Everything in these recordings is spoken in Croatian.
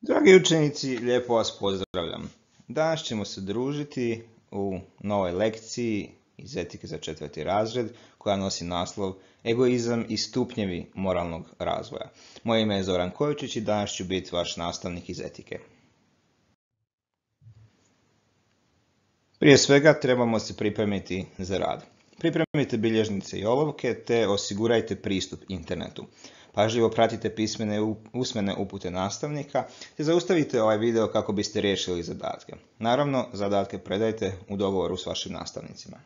Dragi učenici, lijepo vas pozdravljam. Danas ćemo se družiti u novoj lekciji iz etike za 4. razred koja nosi naslov Egoizam i stupnjevi moralnog razvoja. Moje ime je Zoran Kojičić i danas ću biti vaš nastavnik iz etike. Prije svega trebamo se pripremiti za rad. Pripremite bilježnice i olovke te osigurajte pristup internetu. Pažljivo pratite usmene upute nastavnika te zaustavite ovaj video kako biste riješili zadatke. Naravno, zadatke predajte u dogovoru s vašim nastavnicima.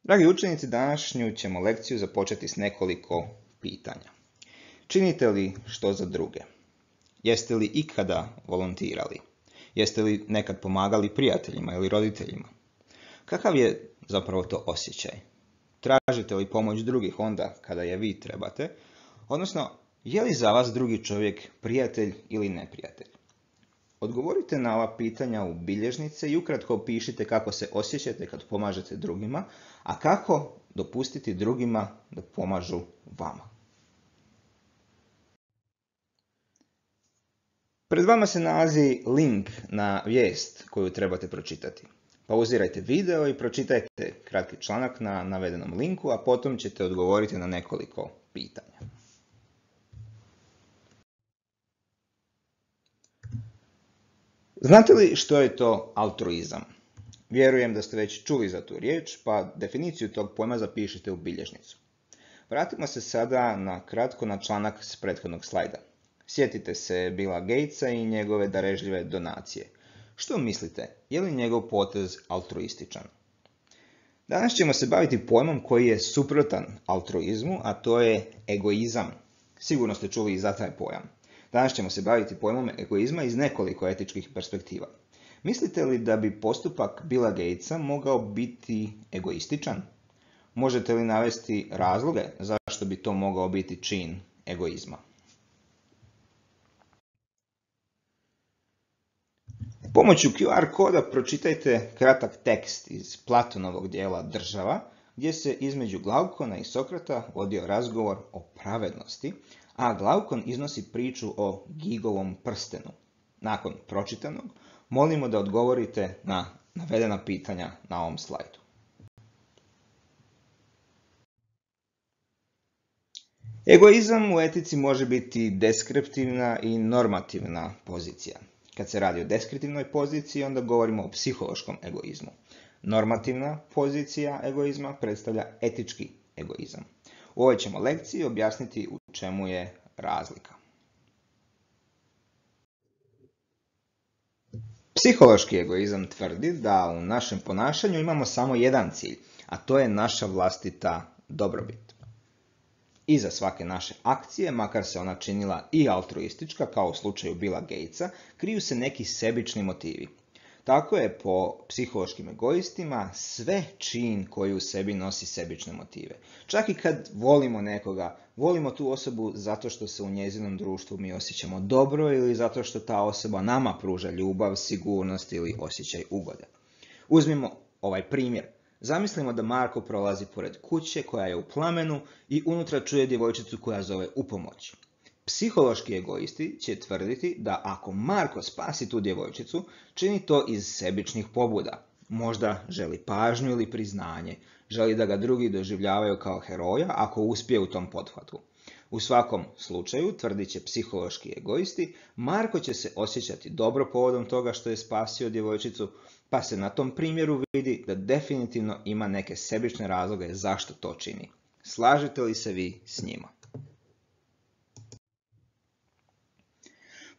Dragi učenici, današnju ćemo lekciju započeti s nekoliko pitanja. Činite li što za druge? Jeste li ikada volontirali? Jeste li nekad pomagali prijateljima ili roditeljima? Kakav je zapravo to osjećaj? Tražite li pomoć drugih onda kada je vi trebate? Odnosno, je li za vas drugi čovjek prijatelj ili neprijatelj? Odgovorite na ova pitanja u bilježnice i ukratko opišite kako se osjećate kad pomažete drugima, a kako dopustiti drugima da pomažu vama. Pred vama se nalazi link na vijest koju trebate pročitati. Pauzirajte video i pročitajte kratki članak na navedenom linku, a potom ćete odgovoriti na nekoliko pitanja. Znate li što je to altruizam? Vjerujem da ste već čuli za tu riječ, pa definiciju tog pojma zapišite u bilježnicu. Vratimo se sada kratko na članak s prethodnog slajda. Sjetite se Billa Gatesa i njegove darežljive donacije. Što mislite, je li njegov potez altruističan? Danas ćemo se baviti pojmom koji je suprotan altruizmu, a to je egoizam. Sigurno ste čuli i za taj pojam. Danas ćemo se baviti pojmom egoizma iz nekoliko etičkih perspektiva. Mislite li da bi postupak Billa Gatesa mogao biti egoističan? Možete li navesti razloge zašto bi to mogao biti čin egoizma? Pomoću QR koda pročitajte kratak tekst iz Platonovog dijela Država, gdje se između Glaukona i Sokrata vodio razgovor o pravednosti, a Glaukon iznosi priču o Gigovom prstenu. Nakon pročitanog, molimo da odgovorite na navedena pitanja na ovom slajdu. Egoizam u etici može biti deskriptivna i normativna pozicija. Kad se radi o deskriptivnoj poziciji, onda govorimo o psihološkom egoizmu. Normativna pozicija egoizma predstavlja etički egoizam. U ovoj ćemo lekciji objasniti u čemu je razlika. Psihološki egoizam tvrdi da u našem ponašanju imamo samo jedan cilj, a to je naša vlastita dobrobit. Iza svake naše akcije, makar se ona činila i altruistička, kao u slučaju Billa Gatesa, kriju se neki sebični motivi. Tako je po psihološkim egoistima sve čin koji u sebi nosi sebične motive. Čak i kad volimo nekoga, volimo tu osobu zato što se u njezinom društvu mi osjećamo dobro ili zato što ta osoba nama pruža ljubav, sigurnost ili osjećaj ugode. Uzmimo ovaj primjer. Zamislimo da Marko prolazi pored kuće koja je u plamenu i unutra čuje djevojčicu koja zove u pomoć. Psihološki egoisti će tvrditi da ako Marko spasi tu djevojčicu, čini to iz sebičnih pobuda. Možda želi pažnju ili priznanje, želi da ga drugi doživljavaju kao heroja ako uspije u tom pothvatu. U svakom slučaju, tvrdit će psihološki egoisti, Marko će se osjećati dobro povodom toga što je spasio djevojčicu, pa se na tom primjeru vidi da definitivno ima neke sebične razloge zašto to čini. Slažete li se vi s njima?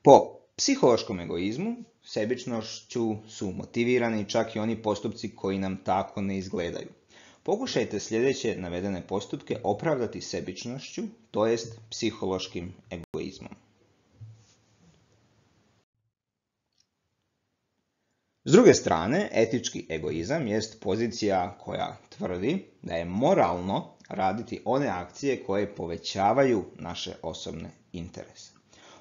Po psihološkom egoizmu, sebičnošću su motivirani čak i oni postupci koji nam tako ne izgledaju. Pokušajte sljedeće navedene postupke opravdati sebičnošću, to jest psihološkim egoizmom. S druge strane, etički egoizam jest pozicija koja tvrdi da je moralno raditi one akcije koje povećavaju naše osobne interese.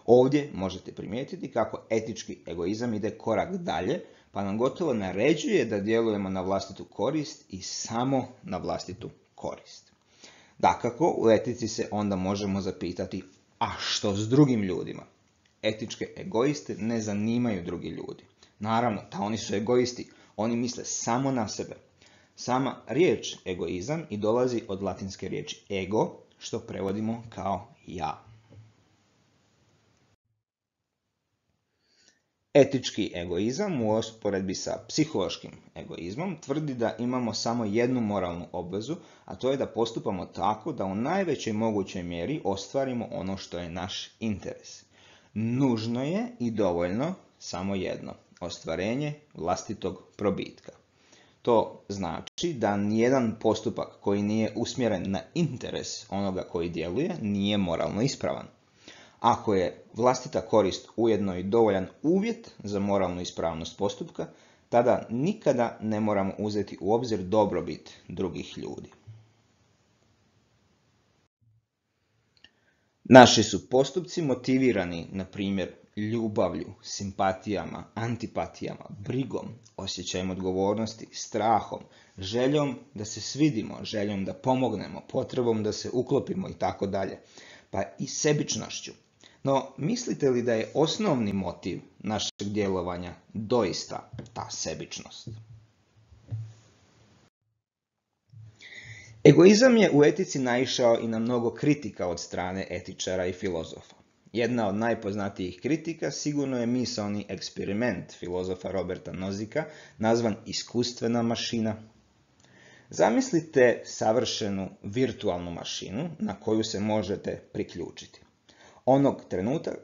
Ovdje možete primijetiti kako etički egoizam ide korak dalje, pa nam gotovo naređuje da djelujemo na vlastitu korist i samo na vlastitu korist. Dakako, u etici se onda možemo zapitati A što s drugim ljudima? Etičke egoiste ne zanimaju drugi ljudi. Naravno, da oni su egoisti, oni misle samo na sebe. Sama riječ egoizam i dolazi od latinske riječi ego, što prevodimo kao ja. Etički egoizam u usporedbi sa psihološkim egoizmom tvrdi da imamo samo jednu moralnu obvezu, a to je da postupamo tako da u najvećoj mogućoj mjeri ostvarimo ono što je naš interes. Nužno je i dovoljno samo jedno, ostvarenje vlastitog probitka. To znači da nijedan postupak koji nije usmjeren na interes onoga koji djeluje nije moralno ispravan. Ako je vlastita korist ujedno i dovoljan uvjet za moralnu ispravnost postupka, tada nikada ne moramo uzeti u obzir dobrobit drugih ljudi. Naši su postupci motivirani, na primjer, ljubavlju, simpatijama, antipatijama, brigom, osjećajem odgovornosti, strahom, željom da se svidimo, željom da pomognemo, potrebom da se uklopimo itd. Pa i sebičnošću. No, mislite li da je osnovni motiv našeg djelovanja doista ta sebičnost? Egoizam je u etici naišao i na mnogo kritika od strane etičara i filozofa. Jedna od najpoznatijih kritika sigurno je misaoni eksperiment filozofa Roberta Nozika, nazvan iskustvena mašina. Zamislite savršenu virtualnu mašinu na koju se možete priključiti. Onog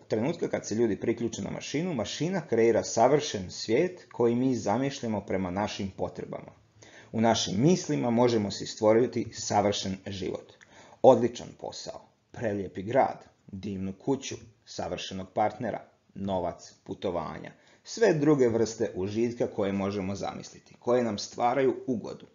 trenutka kad se ljudi priključe na mašinu, mašina kreira savršen svijet koji mi zamišljamo prema našim potrebama. U našim mislima možemo si stvoriti savršen život. Odličan posao, prelijepi grad, divnu kuću, savršenog partnera, novac, putovanja, sve druge vrste užitka koje možemo zamisliti, koje nam stvaraju ugodu.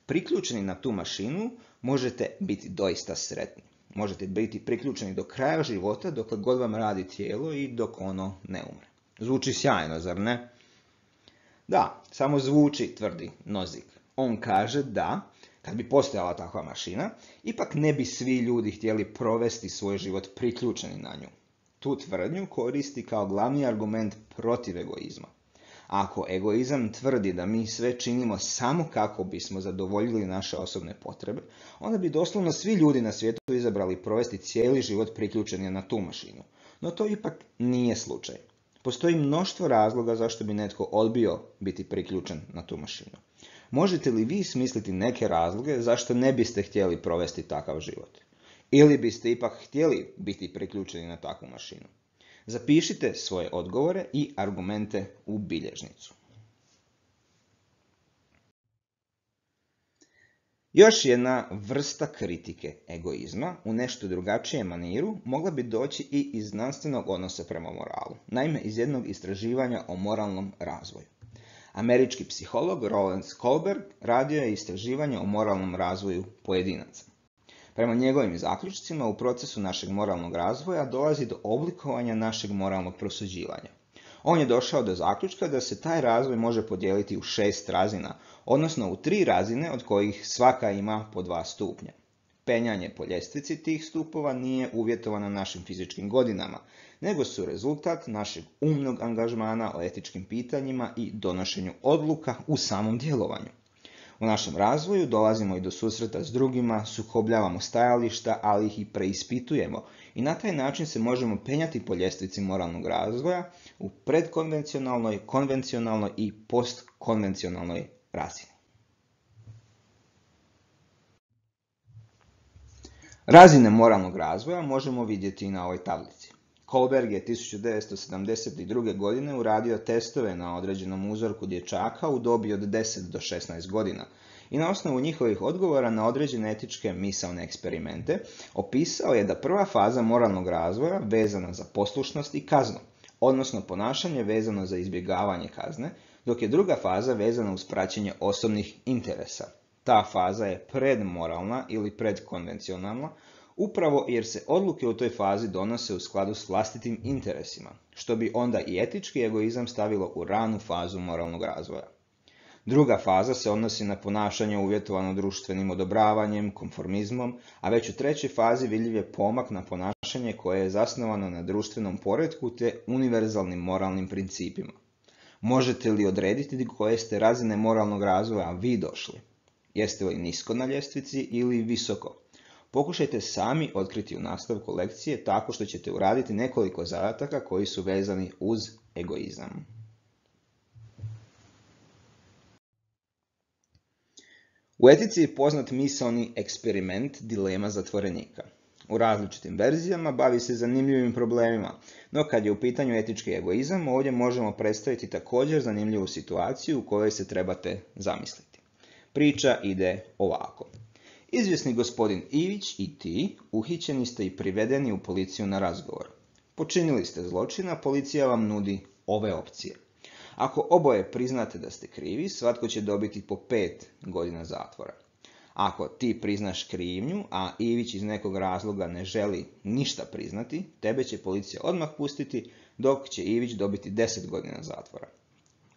Priključeni na tu mašinu možete biti doista sretni. Možete biti priključeni do kraja života dokle god vam radi tijelo i dok ono ne umre. Zvuči sjajno, zar ne? Da, samo zvuči, tvrdi Nozick. On kaže da, kad bi postojala takva mašina, ipak ne bi svi ljudi htjeli provesti svoj život priključeni na nju. Tu tvrdnju koristi kao glavni argument protiv egoizma. Ako egoizam tvrdi da mi sve činimo samo kako bismo zadovoljili naše osobne potrebe, onda bi doslovno svi ljudi na svijetu izabrali provesti cijeli život priključeni na tu mašinu. No to ipak nije slučaj. Postoji mnoštvo razloga zašto bi netko odbio biti priključen na tu mašinu. Možete li vi smisliti neke razloge zašto ne biste htjeli provesti takav život? Ili biste ipak htjeli biti priključeni na takvu mašinu? Zapišite svoje odgovore i argumente u bilježnicu. Još jedna vrsta kritike egoizma u nešto drugačijem maniru mogla bi doći i iz znanstvenog odnosa prema moralu. Naime, iz jednog istraživanja o moralnom razvoju. Američki psiholog Roland Kohlberg radio je istraživanje o moralnom razvoju pojedinaca. Prema njegovim zaključcima, u procesu našeg moralnog razvoja dolazi do oblikovanja našeg moralnog prosuđivanja. On je došao do zaključka da se taj razvoj može podijeliti u 6 razina, odnosno u 3 razine od kojih svaka ima po 2 stupnja. Penjanje po ljestvici tih stupova nije uvjetovano našim fizičkim godinama, nego su rezultat našeg umnog angažmana o etičkim pitanjima i donošenju odluka u samom djelovanju. U našem razvoju dolazimo i do susreta s drugima, sukobljavamo stajališta, ali ih i preispitujemo i na taj način se možemo penjati po ljestvici moralnog razvoja u predkonvencionalnoj, konvencionalnoj i postkonvencionalnoj razini. Razine moralnog razvoja možemo vidjeti i na ovoj tablici. Kohlberg je 1972. godine uradio testove na određenom uzorku dječaka u dobi od 10 do 16 godina i na osnovu njihovih odgovora na određene etičke misaone eksperimente opisao je da prva faza moralnog razvoja vezana za poslušnost i kaznu, odnosno ponašanje vezano za izbjegavanje kazne, dok je druga faza vezana uz praćenje osobnih interesa. Ta faza je predmoralna ili predkonvencionalna, upravo jer se odluke u toj fazi donose u skladu s vlastitim interesima, što bi onda i etički egoizam stavilo u ranu fazu moralnog razvoja. Druga faza se odnosi na ponašanje uvjetovano društvenim odobravanjem, konformizmom, a već u trećoj fazi vidljiv je pomak na ponašanje koje je zasnovano na društvenom poretku te univerzalnim moralnim principima. Možete li odrediti do koje ste razine moralnog razvoja vi došli? Jeste li nisko na ljestvici ili visoko? Pokušajte sami otkriti u nastavku lekcije tako što ćete uraditi nekoliko zadataka koji su vezani uz egoizam. U etici je poznat misaoni eksperiment dilema zatvorenika. U različitim verzijama bavi se zanimljivim problemima, no kad je u pitanju etički egoizam, ovdje možemo predstaviti također zanimljivu situaciju u kojoj se trebate zamisliti. Priča ide ovako. Izvjesni gospodin Ivić i ti uhićeni ste i privedeni u policiju na razgovor. Počinili ste zločin, a policija vam nudi ove opcije. Ako oboje priznate da ste krivi, svatko će dobiti po 5 godina zatvora. Ako ti priznaš krivnju, a Ivić iz nekog razloga ne želi ništa priznati, tebe će policija odmah pustiti, dok će Ivić dobiti 10 godina zatvora.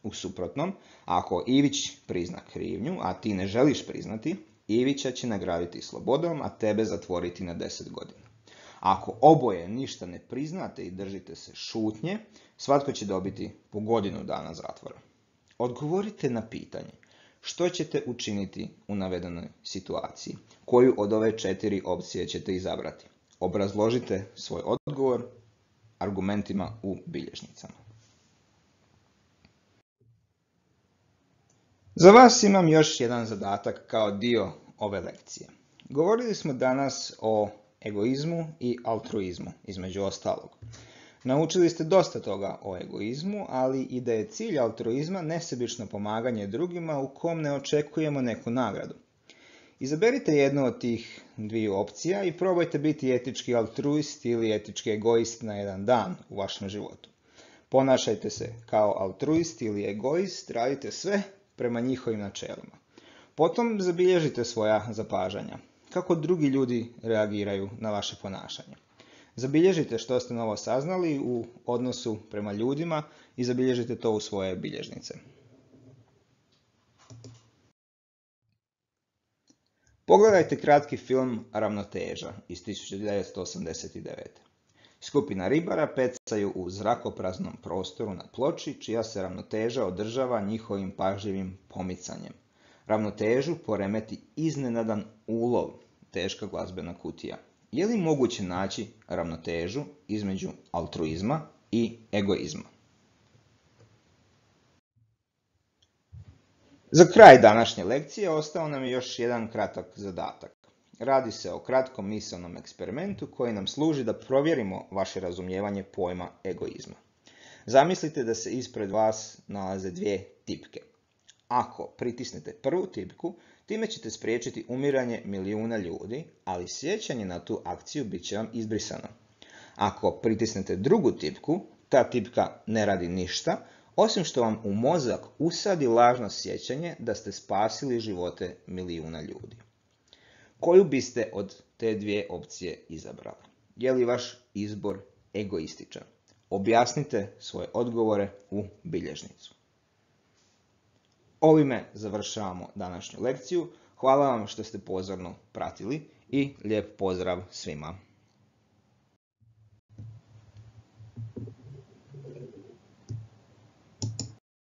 U suprotnom, ako Ivić prizna krivnju, a ti ne želiš priznati, Ivića će nagraditi slobodom, a tebe zatvoriti na 10 godina. Ako oboje ništa ne priznate i držite se šutnje, svatko će dobiti po godinu dana zatvora. Odgovorite na pitanje. Što ćete učiniti u navedenoj situaciji? Koju od ove 4 opcije ćete izabrati? Obrazložite svoj odgovor argumentima u bilješnicama. Za vas imam još jedan zadatak kao dio ove lekcije. Govorili smo danas o egoizmu i altruizmu, između ostalog. Naučili ste dosta toga o egoizmu, ali i da je cilj altruizma nesebično pomaganje drugima u kom ne očekujemo neku nagradu. Izaberite jednu od tih dviju opcija i probajte biti etički altruist ili etički egoist na jedan dan u vašem životu. Ponašajte se kao altruist ili egoist, radite sve prema njihovim načelima. Potom zabilježite svoja zapažanja. Kako drugi ljudi reagiraju na vaše ponašanje. Zabilježite što ste novo saznali u odnosu prema ljudima i zabilježite to u svoje bilježnice. Pogledajte kratki film Ravnoteža iz 1989. Skupina ribara pecaju u zrakopraznom prostoru na ploči, čija se ravnoteža održava njihovim pažljivim pomicanjem. Ravnotežu poremeti iznenadan ulov, teška glazbena kutija. Je li moguće naći ravnotežu između altruizma i egoizma? Za kraj današnje lekcije ostao nam je još jedan kratak zadatak. Radi se o kratkom misaonom eksperimentu koji nam služi da provjerimo vaše razumijevanje pojma egoizma. Zamislite da se ispred vas nalaze dvije tipke. Ako pritisnete prvu tipku, time ćete spriječiti umiranje milijuna ljudi, ali sjećanje na tu akciju bit će vam izbrisano. Ako pritisnete drugu tipku, ta tipka ne radi ništa, osim što vam u mozak usadi lažno sjećanje da ste spasili živote milijuna ljudi. Koju biste od te dvije opcije izabrali? Je li vaš izbor egoističan? Objasnite svoje odgovore u bilježnicu. Ovime završavamo današnju lekciju. Hvala vam što ste pozorno pratili i lijep pozdrav svima.